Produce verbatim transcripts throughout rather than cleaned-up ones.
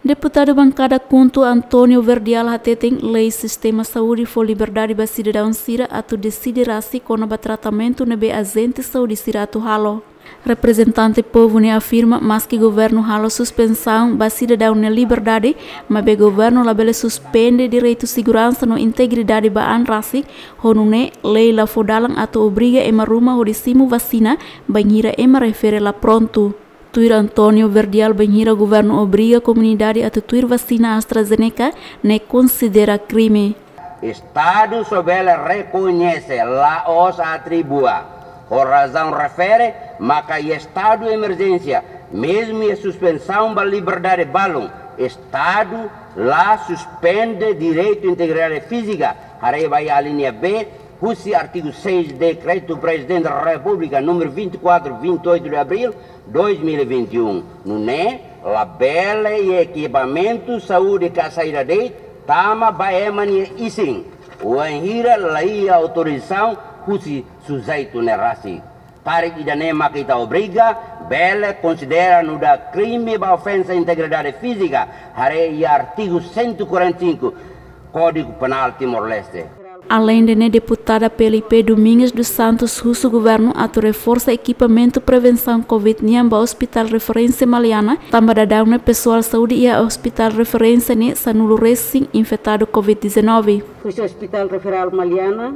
Deputadu bankada KHUNTO António Verdial hateten lei sistema saúde fó liberdade ba sidadaun sira atu deside rasik kona-ba tratamentu ne'ebé ajente saúde sira atu halo. Reprezentante povu ne'e afirma maski governu halo suspensaun ba sidadaun nia liberdade, maibé governu labele suspende direitu seguransa no integridade ba an rasik, ho nune'e lei la fó dalan atu obriga ema ruma hodi simu vasina bainhira ema refere la prontu. Tuir António Verdial, bainhira governu obriga komunidade atu tuir vasina AstraZeneca, ne'e konsidera krime. Estadu só bele rekoñese, la'ós atribua, ho razaun refere maka iha estadu emerjénsia, mezmu iha suspensaun ba liberdade balun, Estadu la suspende direitu integridade fízika, haree ba iha alínea B, husi artigu seis Dekretu Prezidente da Repúblika número vinte e quatro, vinte e oito de abril dois mil e vinte e um. Nune'e, labele iha ekipamentu saúde ka saida de'it tama ba ema nia isin, wainhira la iha autorizasaun husi sujeitu ne'e rasik. Karik ida-ne'e maka ita obriga, bele konsidera nu'udar krime ba ofensa integridade fízika, haree iha artigu cento e quarenta e cinco Kódigu Penál Timor-Leste. Aleinde ne'e, deputada PLP Domingas dos Santos husu governu atu reforsa ekipamentu prevensaun covid nian ba Hospital Referência Maliana, tanba daudaun ne'e pesoál saúde iha Hospital Referência ne'e sanulu resin infetadu covid dezanove. Husi Hospital Referral Maliana,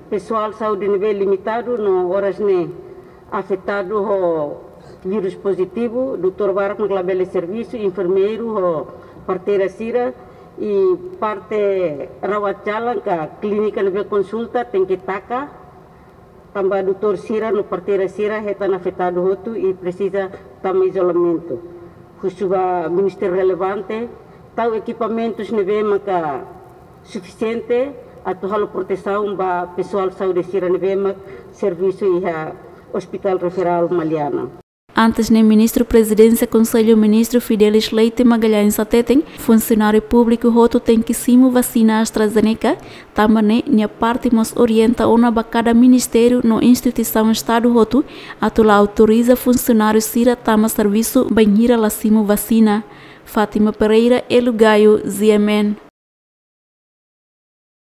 pesoál saúde ne'ebé limitadu no oras ne'e afetadu ho vírus pozitivu, doutór barak mak labele servisu, enfermeiru ho parteira sira, i parte rawat jalan ka klínika ne'ebé konsulta tenke taka, tanba doutór sira no parteira sira hetan afetadu hotu i presiza tama izolamentu. Husu ba ministériu relevante tau ekipamentus ne'ebé maka sufisiente atu halo protesaun ba pesoál saúde sira ne'ebé mak servisu iha Hospital Referral Maliana. Antes ne'e, Ministru Prezidénsia Konsellu Ministru Fidelis Leite Magalhães hateten, funsionáriu públiku hotu tenke simu vasina AstraZeneca, tanba ne'e nia parte mós orienta ona ba kada ministériu no instituisaun Estadu hotu atu la autoriza funsionáriu sira tama servisu bainhira la simu vasina. Fátima Pereira, Elo Gayo, G M N.